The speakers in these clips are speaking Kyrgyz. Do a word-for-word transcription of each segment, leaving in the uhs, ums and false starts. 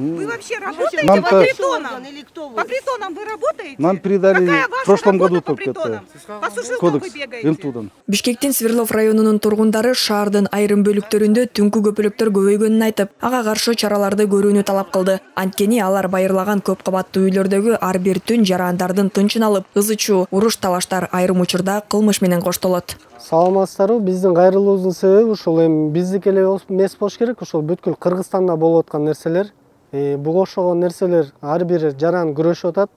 Вы вообще работаете Нам по притонам? Или кто вы? По притонам вы работаете? Нам передали Какая в ваша прошлом работа году по только притонам? это По сушилкам вы кодекс бегаете? Вентудан. Бишкектин Свердлов районунун тургундары шаардын айрым бөлүктөрүндө түнкү көпөлөктөр көбөйгөнүн айтып, ага каршы чараларды көрүүнү талап кылды. Анткени алар байырлаган көп кабаттуу үйлөрдөгү ар бир түн жарандардын тынчын алып, ызы чуу, уруш талаштар айрым учурда кылмыш менен коштолот. Саламатсыздарбы, биздин кайрылуубуздун себеби ушул эми биздики эле эмес болуш керек, ушул бүткүл Кыргызстанда болуп аткан нерселер. Буга окшогон нерселер ар бир жаран күрөшүп атат.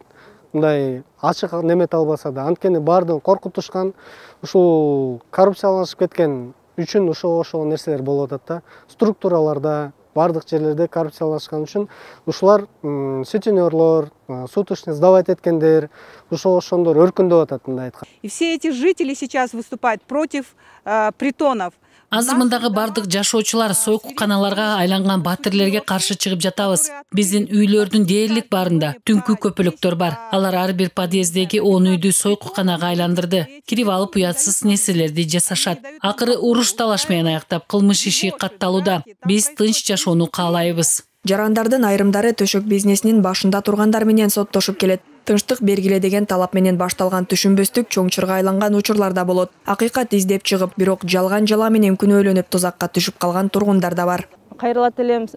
Мындай ачык немете албаса да, анткени баардыгын коркутушкан, ушул коррупциялашып кеткен үчүн ошого окшогон нерселер болуп атат да. Структураларда, баардык жерлерде коррупциялашкан үчүн ушулар сутенерлор, суточный сдавать эткендер, ошого окшогондор өркүндөп атат мындай айтканда. И все эти жители сейчас выступают против э, притонов. Азыр мындагы бардык жашоочулар сойкуканаларга айланган батирлерге каршы чыгып жатабыз. Биздин үйлөрдүн дээрлик баарында түнкү көпөлөктөр бар. Алар ар бир подъездеги он үйдү сойкуканага айландырды. Кирип алып уятсыз нерселерди жасашат. Акыры уруш талаш менен аяктап кылмыш иши катталууда. Биз тынч жашоону каалайбыз. Жарандардын айрымдары төшөк бизнесинин башында тургандар менен соттошуп келет. Тынчтык бергиле деген талап менен башталган түшүнбөстүк чоңчурга айланган учурлар да болот. Акыйкат издеп чыгып, бирок жалган жала менен күнөөлөнүп тузакка түшүп калган тургундар да бар. Кайрылат элем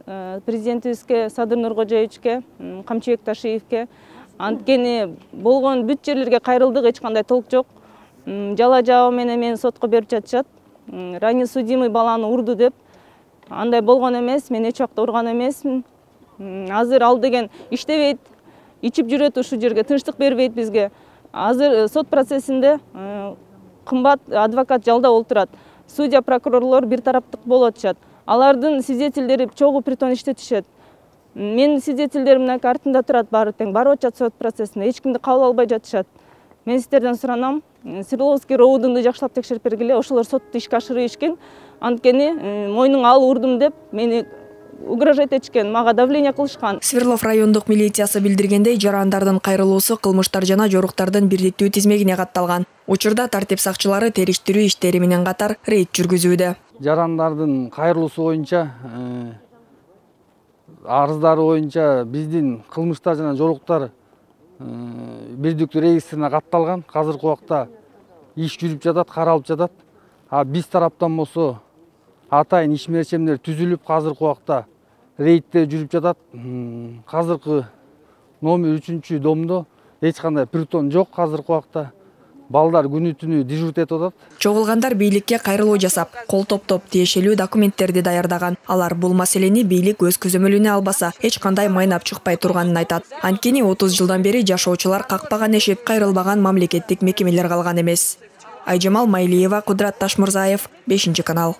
президентибизге Садыр Нуркожоевичке, Камчыбек Ташиевке. Анткени болгон бүт жерлерге кайрылдык, эч кандай толк жок. Жала жабы менен мени сотко берип жатышат. Ранее судимый баланы урду деп. Андай болгон эмес, мен эч убакта урган эмесмин. Азыр ал деген иштебейт. Ичип жүрөт ушул жерге, тынчтык бербейт бизге. Азыр сот процессинде кымбат адвокат жалдап отурат. Судья, прокурорлор бир тараптык болуп атышат. Алардын свидетелдери чогуу притон иштетишет. Менин свидетелдеримдин артында турат баары тең, барып атышат сот процессинде. Эч кимди кабыл албай жатышат. Мен сиздерден суранам, Свердловский роудунду жакшылап текшерип бергиле. Ошолор сотто ишке ашырып ишкен. Анткени мойнуңа ал урдум деп мени угрожать этишкен, мага давление кылышкан. Свердлов райондук милициясы билдиргендей, жарандардын кайрылуусу кылмыштар жана жоруктардын бирдиктүү тизмегине катталган. Учурда тартип сакчылары териштирүү иштери менен катар рейд жүргүзүүдө. Жарандардын кайрылуусу боюнча, арыздары боюнча биздин кылмыштар жана жоруктар бирдиктүү регистрине катталган. Азыркы убакта иш жүрүп жатат, каралып жатат. А биз тараптан болсо атайын иш мерчемдер түзүлүп, азыркы убакта рейдтер жүрүп жатат. Азыркы номер үчүнчү домдо эч кандай притон жок. Азыркы убакта балдар күнү түнү дежурить этип атат. Чогулгандар бийликке кайрылуу жасап, кол топтоп тиешелүү документтерди даярдаган. Алар бул маселени бийлик өз көзөмөлүнө албаса, эч кандай майнап чыкпай турганын айтат. Анткени отуз жылдан бери жашоочулар какпаган эшеп, кайрылбаган мамлекеттик мекемелер калган эмес. Айжамал Майлиева, Кудрат Ташмурзаев, бешинчи канал.